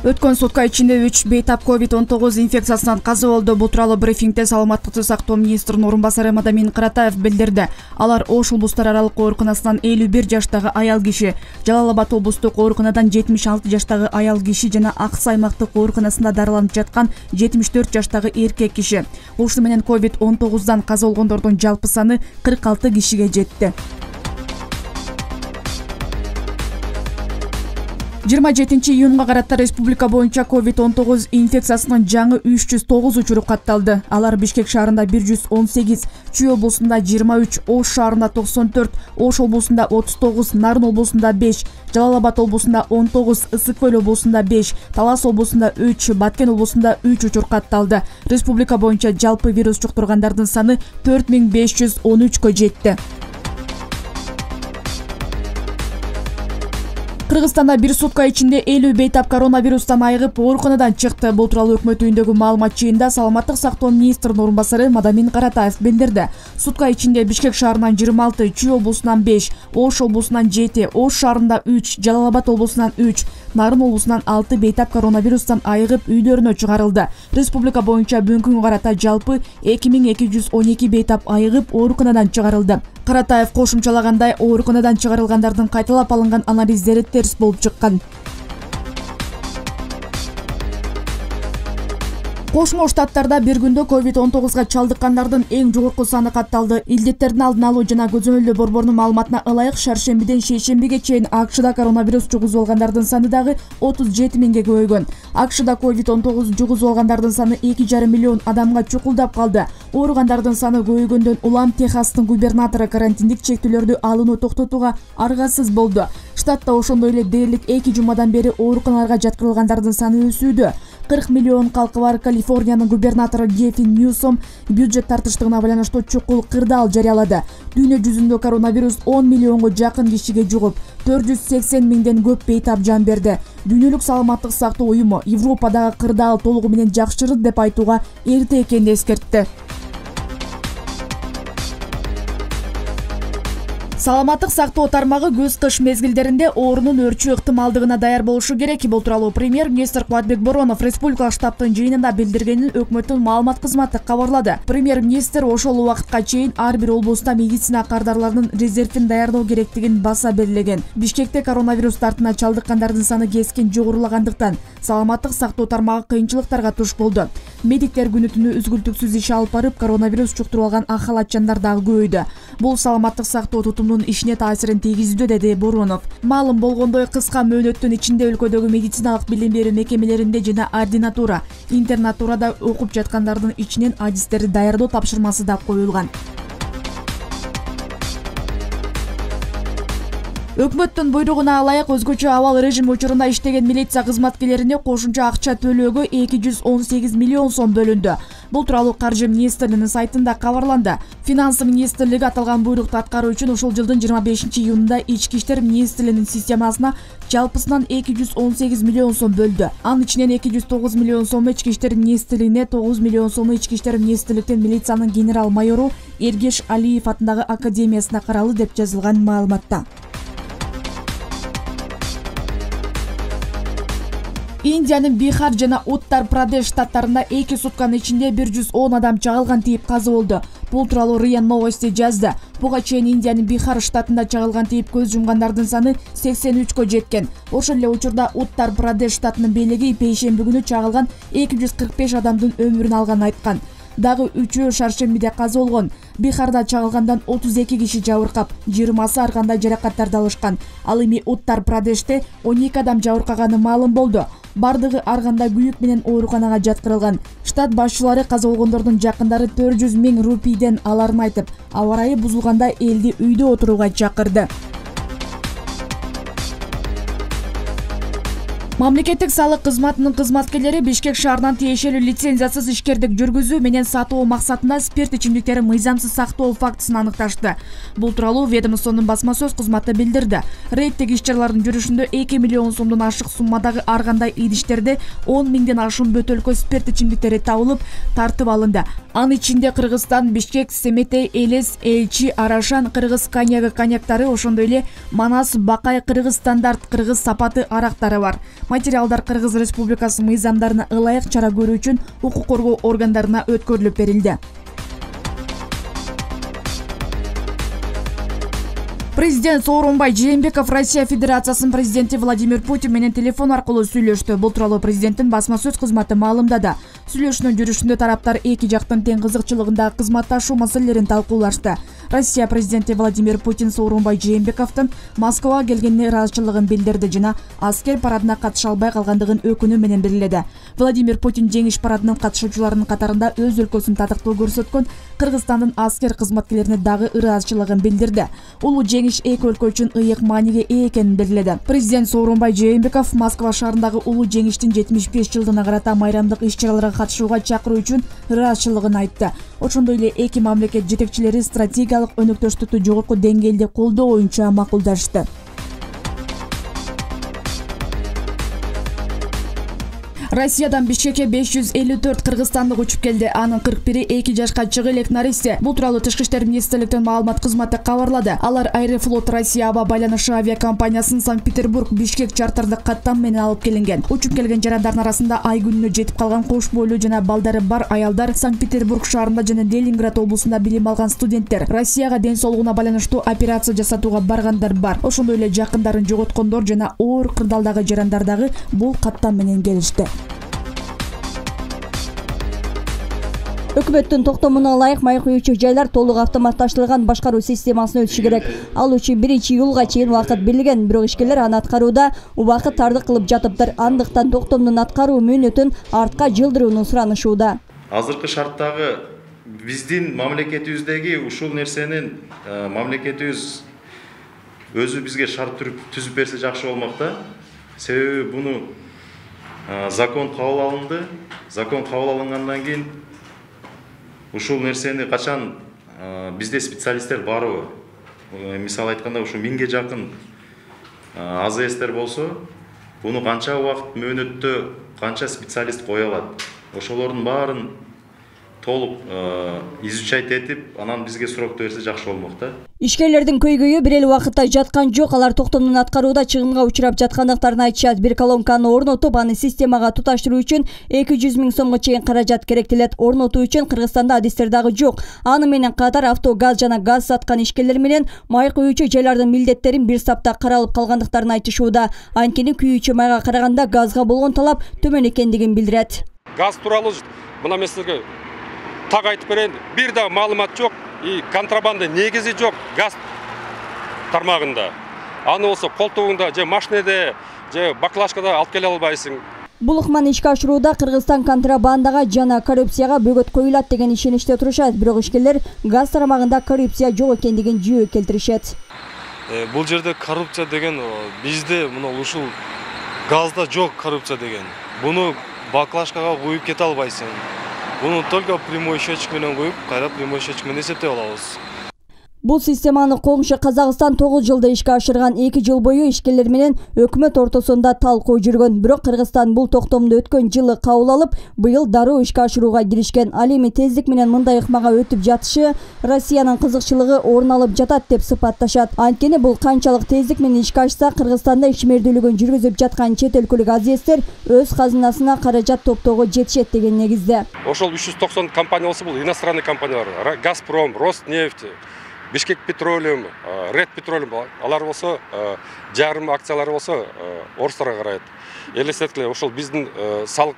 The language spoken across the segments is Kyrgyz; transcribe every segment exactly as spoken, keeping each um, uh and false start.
Өткөн сутка ичинде үч бейтап ковид он тогуз инфекциясынан каза болду. Бул тууралуу брифингде саламаттыкты сактоо министринин орун басары Мадамин Каратаев билдирди. Алар Ош облустар аралык ооруканасынан элүү бир жаштагы аял киши, Жалал Абад облустук ооруканадан жетимиш алты жаштагы аял киши жана Аксы аймактык ооруканасында дарыланып жаткан жетимиш төрт жаштагы эркек киши. Ушуну менен ковид он тогуздан каза болгондордун жалпы саны кырк алты кишиге жетти. жыйырма жетинчи июнга карата республика боюнча ковид он тогуз инфекциясынын жаңы үч жүз тогуз учуру катталды. Алар Бишкек шаарында бир жүз он сегиз, Чүй облусунда жыйырма үч, Ош шаарында токсон төрт, Ош облусунда отуз тогуз, Нарын облусунда беш, Жалал Абад облусунда он тогуз, Ысык Көл облусунда беш, Талас облусунда үч, Баткен облусунда үч учур катталды. Республика боюнча жалпы вирус жуктургандардын саны төрт миң беш жүз он үчкө жетти. Кыргызстанда бир сутка ичинде элүү бейтап коронавирустан айыгып ооруканадан чыкты. Бул тууралуу өкмөт үйүндөгү маалымат жыйынында саламаттык сактоо министринин орун басары Мадамин Каратаев билдирди. Сутка ичинде Бишкек шаарынан жыйырма алты, Чүй облусунан беш, Ош облусунан жети, Ош шаарында үч, Жалал Абад облусунан үч, Нарын облусунан алты бейтап коронавирустан айыгып үйлөрүнө чыгарылды. Республика боюнча бүгүнкү күнгө карата жалпы эки миң эки жүз он эки бейтап айыгып ооруканадан чыгарылды. Каратаев кошумчалагандай, ооруканадан чыгарылгандардын кайталап алынган анализдери терс болуп чыккан. Кошмо Штаттарда бир күндө ковид он тогузга чалдыккандардын эң жогорку саны катталды. Илдеттердин алдын алуу жана көзөмөлдөө борборунун маалыматына ылайык шаршембиден шейшембиге чейин АКШда коронавирус жугузуп алгандардын саны дагы отуз жети миңге көбөйгөн. АКШда ковид он тогуз жугузуп алгандардын саны эки жарым миллион адамга чукулдап калды. Ооругандардын саны көбөйгөндөн улам Техастын губернатору карантиндик чектөөлөрдү алууну токтотууга аргасыз болду. Штатта ошондой эле дээрлик эки жумадан бери ооруканаларга жаткырылгандардын саны өсүүдө. кырк миллион калкы бар Калифорниянын губернатору Гефин Ньюсом бюджет тартыштыгына байланыштуу чукул кырдаал жарыялады. Дүйнө жүзүндө коронавирус он миллионго жакын кишиге жугуп, төрт жүз сексен миңден көп бейтап жан берди. Дүйнөлүк саламаттык сактоо уюму Европадагы кырдаал толугу менен жакшырды деп айтууга эрте экенин эскертти. Саламаттык сактоо тармагы көз-кыш мезгилдеринде оорунун өрчүү ыктымалдыгына даяр болушу керек. Бул тууралуу премьер-министр Кубатбек Боронов республикалык штабтын жыйынында билдиргенин өкмөттүн маалымат кызматы кабарлады. Премьер-министр ошол убакытка чейин ар бир облуста медицина кардарларынын резервин даярдоо керектигин баса белгилеген. Бишкекте коронавирус тартына чалдыккандардын саны кескин жогорулагандыктан саламаттык сактоо тармагы кыйынчылыктарга туш болду. Медиктер күнү түнү үзгүлтүксүз иш алып барып, коронавирус жуктуруп алган ахалатчандар дагы көбөйдү. Бул саламаттык сактоо тутумунун ишине таасирин тийгизүүдө, деди Боронов. Маалым болгондой, кыска мөөнөттүн ичинде өлкөдөгү медициналык билим берүү мекемелеринде жана ординатура, интернатурада окуп жаткандардын ичинен адистерди даярдоо тапшырмасы да коюлган. Өкмөттүн буйругуна ылайык өзгөчө абал режим учурунда иштеген милиция кызматкерлерине кошумча акча төлөөгө эки жүз он сегиз миллион сом бөлүндү. Бул тууралуу Каржы министрлигинин сайтында кабарланды. Финанс министрлиги аталган буйрукту аткаруу үчүн ушул жылдын жыйырма бешинчи июнунда Ички иштер министрлигинин системасына жалпысынан эки жүз он сегиз миллион сом бөлдү. Анын ичинен эки жүз тогуз миллион сому Ички иштер министрлигине, тогуз миллион сому Ички иштер министрликтен милициянын генерал майору Эргеш Алиев атындагы академиясына каралды деп жазылган маалыматта. Индиянын Бихар жана Уттар-Прадеш штаттарында эки сутканын ичинде бир жүз он адам чагылган тийип каза болду. Бул тууралуу РИА Новости жазды. Буга чейин Индиянын Бихар штатында чагылган тийип көз жумгандардын саны сексен үчкө жеткен. Ошол эле учурда Уттар-Прадеш штатынын бийлиги пейшемби күнү чагылган эки жүз кырк беш адамдын өмүрүн алганын айткан. Дагы үчөө шаршембиде каза болгон. Бихарда чагылгандан отуз эки киши жабыркап, жыйырмасы ар кандай жаракаттарды алышкан. Ал эми Уттар-Прадеште он эки адам жабыркаганы маалым болду. Бардыгы ар кандай күйүк менен ооруканага жаткырылган. Штат башчылары каза болгондордун жакындары төрт жүз миң рупийден аларын айтып, аба ырайы бузулганда элди үйдө отурууга чакырды. Мамлекеттик салык кызматынын кызматкерлери Бишкек шаарынан тиешелүү лицензиясыз ишкердик жүргүзүү менен сатуу максатында спирт ичимдиктерин мыйзамсыз сактоо фактысын аныкташты. Бул тууралуу ведомствонун басма сөз кызматы билдирди. Рейдтик иш-чаралардын жүрүшүндө эки миллион сомдон ашык суммадагы ар кандай идиштерде он миңден ашуун бөтөлкө спирт ичимдиктери табылып, тартып алынды. Анын ичинде Кыргызстан, Бишкек, Семетей, Элес, Элчи, Арашан, кыргыз коньяги коньяктары, ошондой эле Манас, Бакай, кыргыз стандарт, кыргыз сапаты арактары бар. Материалдар Кыргыз Республикасы мыйзамдарына ылайык чара көрүү үчүн укук коргоо органдарына өткөрүлүп берилди. Президент Сооронбай Жээнбеков Россия Федерациясынын президенти Владимир Путин менен телефон аркылуу сүйлөштү. Бул тууралуу президенттин басма сөз кызматы маалымдады. Сүйлөшүүнүн жүрүшүндө тараптар эки жактын тең кызыкчылыгындагы кызматташуу маселелерин талкуулашты. Россия президенти Владимир Путин Сооронбай Жээнбековдун Москвага келгенине ыраазычылыгын билдирди жана аскер парадына катыша албай калгандыгын өкүнүү менен белгиледи. Владимир Путин жеңиш парадынын катышуучуларынын катарында өз өлкөсүн татыктуу көрсөткөн Кыргызстандын аскер кызматкерлерине дагы ыраазычылыгын билдирди. Улуу жеңиш эки өлкө үчүн ыйык мааниге ээ экенин белгиледи. Президент Сооронбай Жээнбеков Москва шаарындагы улуу жеңиштин жетимиш беш жылдыгына карата майрамдык иш-чараларга катышууга чакыруу үчүн ыраазычылыгын айтты. Ошондой эле эки мамлекет жетекчилери стратегиялык өнөктөштүктү жогорку деңгээлде колдоо боюнча макулдашты. Россиядан Бишкекке беш жүз элүү төрт кыргызстандык учуп келди. Анын кырк бири эки жашка чыгы элек наристе. Бул тууралуу Тышкы иштер министрликтин маалымат кызматы кабарлады. Алар Аэрофлот Россия аба байланышы авиакомпаниясынын Санкт-Петербург Бишкек чартардык каттам менен алып келинген. Учуп келген жарандардын арасында ай күнүнө жетип калган кош бойлуу жана балдары бар аялдар, Санкт-Петербург шаарында жана Ленинград облусунда билим алган студенттер, Россияга ден соолугуна байланыштуу операция жасатууга баргандар бар. Ошондой эле жакындарын жоготкондор жана оор кырдаалдагы жарандар дагы бул каттам менен келишти. Өкмөттүн токтомуна ылайык май куюучу жайлар толук автоматташтырылган башкаруу системасына өтүшү керек. Ал үчүн биринчи июлга чейин убакыт берилген, бирок ишкерлер аны аткарууда убакыт тардык кылып жатыптыр. Андыктан токтомдун аткаруу мөөнөтүн артка жылдырууну суранышууда. Азыркы шарттагы биздин мамлекетибиздеги ушул нерсенин мамлекетибиз өзү бизге шарт түзүп берсе жакшы болмок да. Себеби буну закон кабыл алынды. Закон кабыл алынгандан кийин ушул нерсени качан бизде специалисттер барбы? Мисалы айтканда ушу миңге жакын АЗСтер болсо, буну канча убакыт мөөнөттө канча специалист кое алат? Ошолордун баарын толук изучать этип, анан бизге сурокту берсе жакшы болмок да. Ишкерлердин көйгөйү бир эле убакытта жаткан жок. Алар токтомдун аткарууда чыгымга учурап жаткандыктарын айтышат. Бир колонканы орнотуп, аны системага туташтыруу үчүн эки жүз миң сомго чейин каражат керектелет. Орнотуу үчүн Кыргызстанда адистер дагы жок. Аны менен катар авто, газ жана газ саткан ишкерлер менен май куюучу жайлардын милдеттерин бир сапта каралып калгандыктарын айтышууда. Анткени күйүүчү майга караганда газга болгон талап төмөн экендигин билдирет. Газ тууралуу мына мен сизге так айтып берейин, бир да маалымат жок, и контрабанда негизи жок газ тармагында. Аны болсо колтугуңда же машинеде, же баклажкада алып келе албайсың. Бул ыкманы ишке ашырууда Кыргызстан контрабандага жана коррупцияга бөгөт коюлат деген ишеничте турушат. Бирок ишкерлер газ тармагында коррупция жок экендигин жөө келтиришет. Бул жерде коррупция деген бизде мына ушул газда жок коррупция деген. Буну баклажкага куюп кете албайсың. Буну только прямой счетчик менен коюп, кайра прямой счетчик менен эсептеп алабыз. Бул системаны коңшу Казакстан тогуз жылда ишке ашырган. эки жыл бою ишкерлер менен өкмөт ортосунда талкуу жүргөн. Бирок Кыргызстан бул токтомду өткөн жылы кабыл алып, быйыл дароо ишке ашырууга киришкен. Ал эми тездик менен мындай ыкмага өтүп жатышы Россиянын кызыкчылыгы орун алып жатат деп сыпатташат. Анткени бул канчалык тездик менен ишке ашса, Кыргызстанда ишмердүүлүгүн жүргүзүп жаткан чет өлкөлүк азиэстер өз казынасына каражат топтоого жетишет деген негизде. Ошол үч жүз токсон компания болсо, бул иностранный компаниялар, Газпром, Роснефть, Бишкек Петролиум, Ред Петролиум, алар болсо жарым акциялары болсо орустарга карайт. Элестеткиле, ошол биздин салык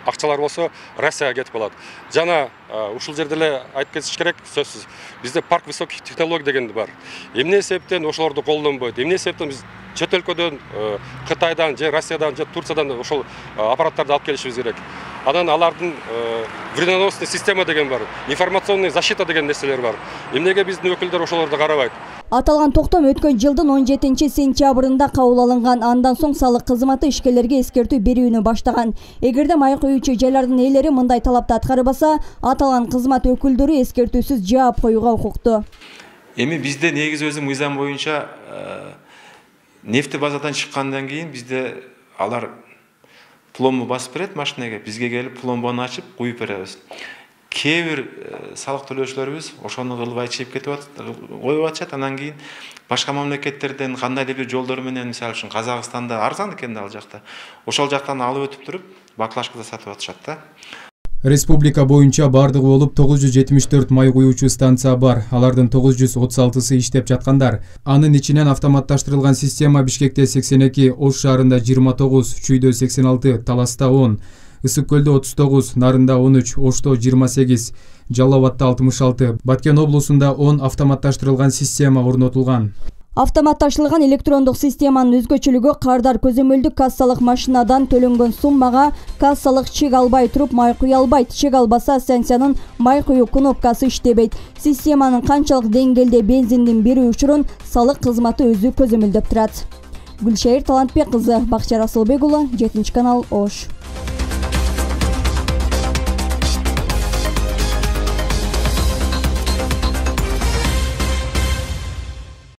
акчалар болсо Россияга кетип калат. Жана ушул жерде эле айтып кетиш керек, сөзсүз. Бизде парк высоких технологий деген бар. Эмне себептен ошолорду колдонбойт? Эмне себептен биз чет өлкөдөн, Кытайдан, же Россиядан, же Турциядан ошол аппараттарды алып келишибиз керек. Анан алардын вредоносный система деген бар, информационный защита деген нерселер бар. Эмнеге биздин өкүлдөр ошолорду карабайт? Аталган токтом өткөн жылдын он жетинчи сентябрында кабыл алынган. Андан соң салык кызматы ишкерлерге эскертүү берүүнү баштаган. Эгерде май куюучу жайлардын ээлери мындай талапты аткарбаса, аталган кызмат өкүлдөрү эскертүүсүз жаап коюуга укуктуу. Эми бизде негизи өзү мыйзам боюнча нефтебазадан чыккандан кийин бизде алар пломбу басып берет машинеге, бизге келип пломбаны ачып куюп беребиз. кээ бир салык төлөөчүлөрүбүз ошону кылбай чейип кетип коюп атышат. Анан кийин башка мамлекеттерден кандайдыр бир жолдор менен, мисалы үчүн Казакстанда арзан экен да ал жакта, ошол жактан алып өтүп туруп баклажкада сатып атышат да. Республика боюнча бардыгы болуп тогуз жүз жетимиш төрт май куюучу станция бар. Алардын тогуз жүз отуз алтысы иштеп жаткандар. Анын ичинен автоматташтырылган система Бишкекте сексен эки, Ош шаарында жыйырма тогуз, Чүйдө сексен алты, Таласта он, Ысык көлдө отуз тогуз, Нарында он үч, Ошто жыйырма сегиз, Жалал Абадта алтымыш алты, Баткен облусунда он автоматташтырылган система орнотулган. Автоматташылган электрондук системанын өзгөчөлүгү кардар көзөмөлдүк кассалык машинадан төлөнгөн суммага кассалык чек албай туруп май куя албайт. Чек албаса станциянын май куюу кнопкасы иштебейт. Системанын канчалык деңгээлде бензиндин берүү учурун салык кызматы өзү көзөмөлдөп турат. Гүлшайыр Талантбек кызы, Бакча Расылбек уулу, жетинчи канал, Ош.